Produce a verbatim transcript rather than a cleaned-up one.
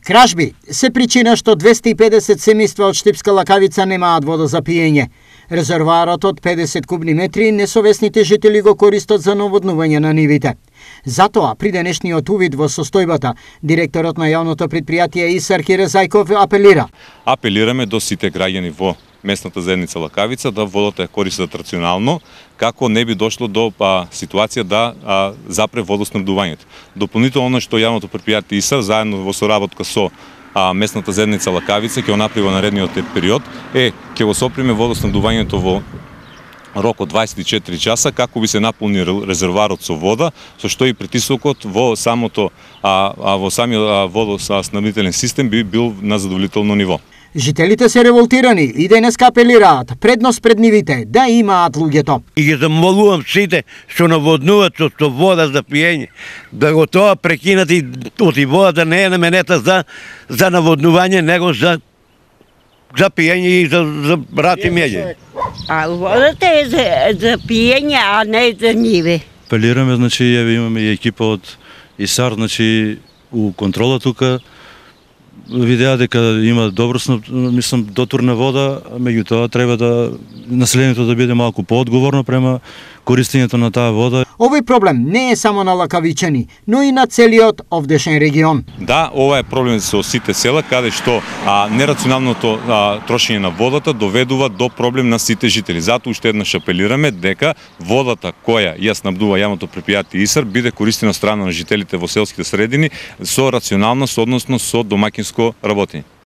Кражби се причина што двесте и педесет семејства од Штипска Лакавица немаат вода за пиење. Резервоарот од педесет кубни метри несовесните жители го користат за наводнување на нивите. Затоа, при денешниот увид во состојбата, директорот на јавното предпријатие ИСАР Кире Зајков апелира. Апелираме до сите граѓани во местната заедница Лакавица да водата ја користат рационално, како не би дошло до па, ситуација да а, запре водоснабдувањето. Дополнително што јавното предпријатие ИСАР заедно во соработка со а, местната заедница Лакавица ќе го направи во наредниот период е ќе го соприме водоснабдувањето во рок од дваесет и четири часа како би се наполни резервоарот со вода, со што и притисокот во самото а, а, во самиот водоснабдителен систем би бил на задоволително ниво. Жителите се револтирани и денеска апелираат предност пред нивите да имаат луѓето. И ги замолувам сите што наводнуваат со, со вода за пиење, да го тоа прекинат и од и водата не е наменета за за наводнување, него за за пиење и за за брат и меѓе. А водата е за, за пиење, а не за ниве. Апелираме, значи, еве имаме и екипа од ИСАР, значи, у контрола тука, видеа дека има добро, мислам, дотурна вода, меѓутоа треба да населението да биде малку поодговорно према користењето на таа вода. Овој проблем не е само на лакавичани, но и на целиот овдешен регион. Да, ова е проблем со сите села, каде што а, нерационалното а, трошење на водата доведува до проблем на сите жители. Затоа уште еднаш апелираме дека водата која ја снабдува јавното предпријатие ИСАР биде користена од страна на жителите во селските средини со рационалност, односно со домаќинско работење.